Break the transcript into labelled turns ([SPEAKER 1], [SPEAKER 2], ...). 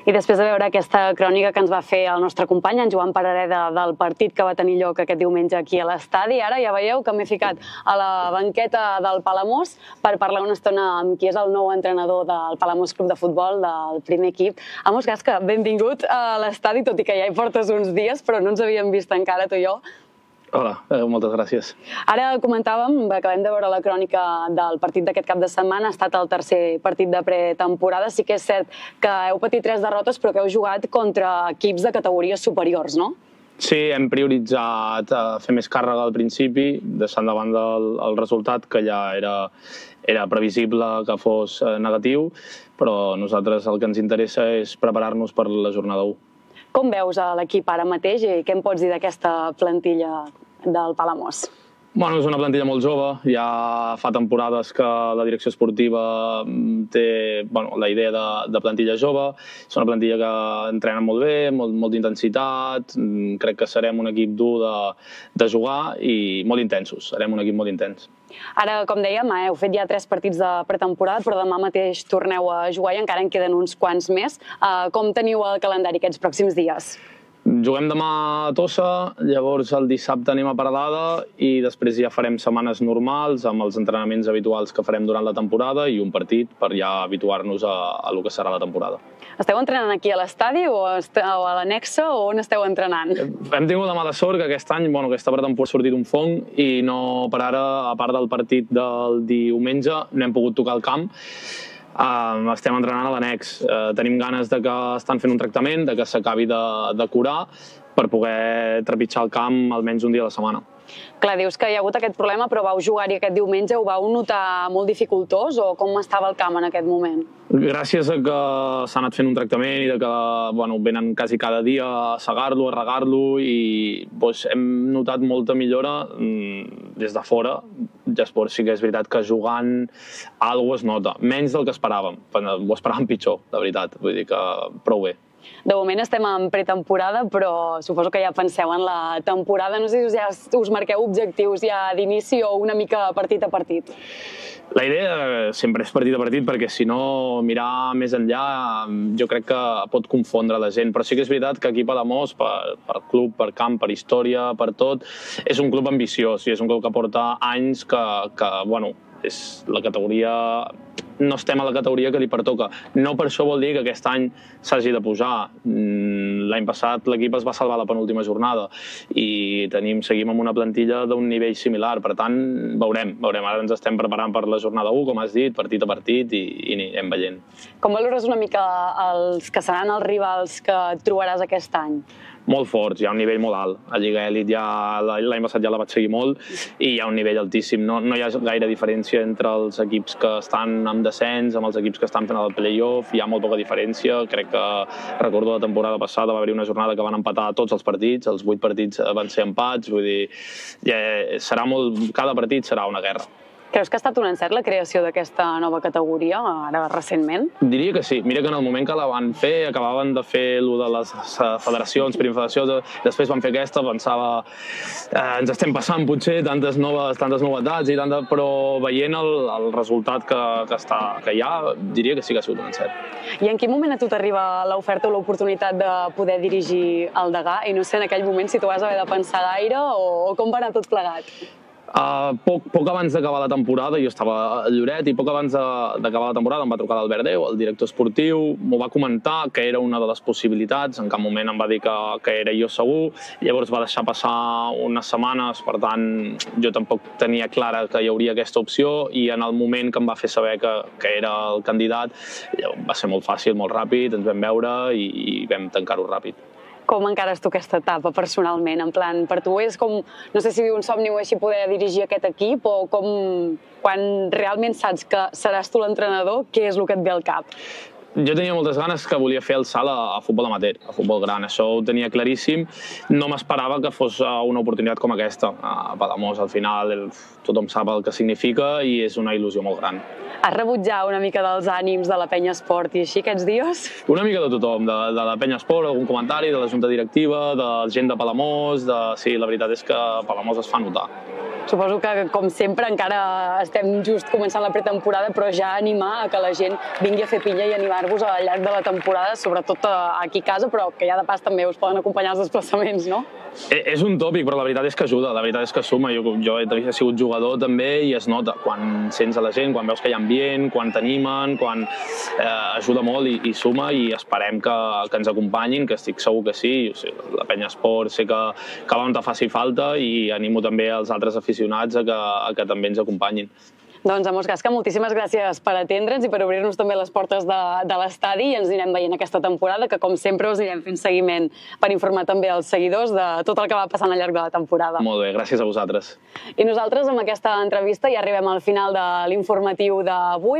[SPEAKER 1] I després de veure aquesta crònica que ens va fer el nostre company, en Joan Parareda, del partit que va tenir lloc aquest diumenge aquí a l'estadi, ara ja veieu que m'he ficat a la banqueta del Palamós per parlar una estona amb qui és el nou entrenador del Palamós Club de Futbol, del primer equip. Amos Gasca, benvingut a l'estadi, tot i que ja hi portes uns dies, però no ens havíem vist encara, tu i jo.
[SPEAKER 2] Hola, moltes gràcies.
[SPEAKER 1] Ara comentàvem, acabem de veure la crònica del partit d'aquest cap de setmana, ha estat el tercer partit de pretemporada. Sí que és cert que heu patit 3 derrotes, però que heu jugat contra equips de categories superiors, no?
[SPEAKER 2] Sí, hem prioritzat fer més càrrega al principi, deixant de banda el resultat, que ja era previsible que fos negatiu, però a nosaltres el que ens interessa és preparar-nos per la jornada 1.
[SPEAKER 1] Com veus l'equip ara mateix i què em pots dir d'aquesta plantilla del Palamós?
[SPEAKER 2] Bueno, és una plantilla molt jove, ja fa temporades que la direcció esportiva té la idea de plantilla jove, és una plantilla que entrena molt bé, molt d'intensitat, crec que serem un equip dur de jugar i molt intensos, serem un equip molt intens.
[SPEAKER 1] Ara, com dèiem, heu fet ja 3 partits de pretemporada, però demà mateix torneu a jugar i encara en queden uns quants més. Com teniu el calendari aquests pròxims dies?
[SPEAKER 2] Juguem demà a Tossa, llavors el dissabte anem a Peralada i després ja farem setmanes normals amb els entrenaments habituals que farem durant la temporada i un partit per ja habituar-nos a lo que serà la temporada.
[SPEAKER 1] Esteu entrenant aquí a l'estadi o a l'annexa o on esteu entrenant?
[SPEAKER 2] Hem tingut la mala sort que aquest any, aquesta pretemporada ha sortit un fong i no, per ara, a part del partit del diumenge, no hem pogut tocar el camp. Estem entrenant a l'annex. Tenim ganes de que estan fent un tractament, de que s'acabi de curar per poder trepitjar el camp almenys un dia a la setmana.
[SPEAKER 1] Clar, dius que hi ha hagut aquest problema, però vau jugar-hi aquest diumenge, ho vau notar molt dificultós o com estava el camp en aquest moment?
[SPEAKER 2] Gràcies a que s'ha anat fent un tractament i que venen quasi cada dia a segar-lo, a regar-lo i hem notat molta millora des de fora. Llavors sí que és veritat que jugant alguna cosa es nota, menys del que esperàvem. Ho esperàvem pitjor, de veritat, vull dir que prou bé.
[SPEAKER 1] De moment estem en pretemporada, però suposo que ja penseu en la temporada. No sé si ja us marqueu objectius ja d'inici o una mica partit a partit.
[SPEAKER 2] La idea sempre és partit a partit, perquè si no mirar més enllà jo crec que pot confondre la gent. Però sí que és veritat que aquí a Palamós, per club, per camp, per història, per tot, és un club ambiciós i és un club que porta anys que és la categoria... No estem a la categoria que li pertoca. No per això vol dir que aquest any s'hagi de pujar. L'any passat l'equip es va salvar a la penúltima jornada i seguim amb una plantilla d'un nivell similar. Per tant, veurem. Ara ens estem preparant per la jornada 1, com has dit, partit a partit i anem veient.
[SPEAKER 1] Com valores una mica els que seran els rivals que trobaràs aquest any?
[SPEAKER 2] Molt forts, hi ha un nivell molt alt. A Lliga Elit l'any passat ja la vaig seguir molt i hi ha un nivell altíssim. No hi ha gaire diferència entre els equips que estan en descens, amb els equips que estan fent el play-off, hi ha molt poca diferència. Crec que, recordo la temporada passada, va haver una jornada que van empatar tots els partits, els 8 partits van ser empats, vull dir, cada partit serà una guerra.
[SPEAKER 1] Creus que ha estat un encert la creació d'aquesta nova categoria, ara recentment?
[SPEAKER 2] Diria que sí. Mira que en el moment que la van fer, acabaven de fer allò de les federacions, primfederacions, després van fer aquesta, pensava ens estem passant potser tantes novetats, però veient el resultat que hi ha, diria que sí que ha sigut un encert.
[SPEAKER 1] I en quin moment a tu t'arriba l'oferta o l'oportunitat de poder dirigir el Degà? I no sé en aquell moment si tu vas haver de pensar gaire o com va anar tot plegat?
[SPEAKER 2] Poc abans d'acabar la temporada, jo estava a Lloret i poc abans d'acabar la temporada em va trucar l'Albert Déu, el director esportiu, m'ho va comentar que era una de les possibilitats, en cap moment em va dir que era jo segur, llavors va deixar passar unes setmanes, per tant jo tampoc tenia clara que hi hauria aquesta opció i en el moment que em va fer saber que era el candidat va ser molt fàcil, molt ràpid, ens vam veure i vam tancar-ho ràpid.
[SPEAKER 1] Com encares tu aquesta etapa personalment? En plan, per tu és com, no sé si un somni o així poder dirigir aquest equip o com quan realment saps que seràs tu l'entrenador, què és el que et ve al cap?
[SPEAKER 2] Jo tenia moltes ganes que volia fer el salt a futbol amateur, a futbol gran, això ho tenia claríssim. No m'esperava que fos una oportunitat com aquesta. A Palamós, al final, tothom sap el que significa i és una il·lusió molt gran.
[SPEAKER 1] Has rebut ja una mica dels ànims de la Penya Esport i així aquests dies?
[SPEAKER 2] Una mica de tothom, de la Penya Esport, algun comentari, de la junta directiva, de gent de Palamós, sí, la veritat és que Palamós es fa notar.
[SPEAKER 1] Suposo que, com sempre, encara estem just començant la pretemporada, però ja animar a que la gent vingui a fer pinya i animar-vos acompanyar-vos al llarg de la temporada, sobretot aquí a casa, però que ja de pas també us poden acompanyar els desplaçaments, no?
[SPEAKER 2] És un tòpic, però la veritat és que ajuda, la veritat és que suma. Jo he sigut jugador també i es nota quan sents a la gent, quan veus que hi ha ambient, quan t'animen, quan ajuda molt i suma, i esperem que ens acompanyin, que estic segur que sí. La Penya Esport sé que on te faci falta, i animo també els altres aficionats a que també ens acompanyin.
[SPEAKER 1] Doncs, Amos Gasca, moltíssimes gràcies per atendre'ns i per obrir-nos també les portes de l'estadi, i ens anirem veient aquesta temporada, que com sempre us anirem fent seguiment per informar també els seguidors de tot el que va passant al llarg de la temporada.
[SPEAKER 2] Molt bé, gràcies a vosaltres.
[SPEAKER 1] I nosaltres amb aquesta entrevista ja arribem al final de l'informatiu d'avui.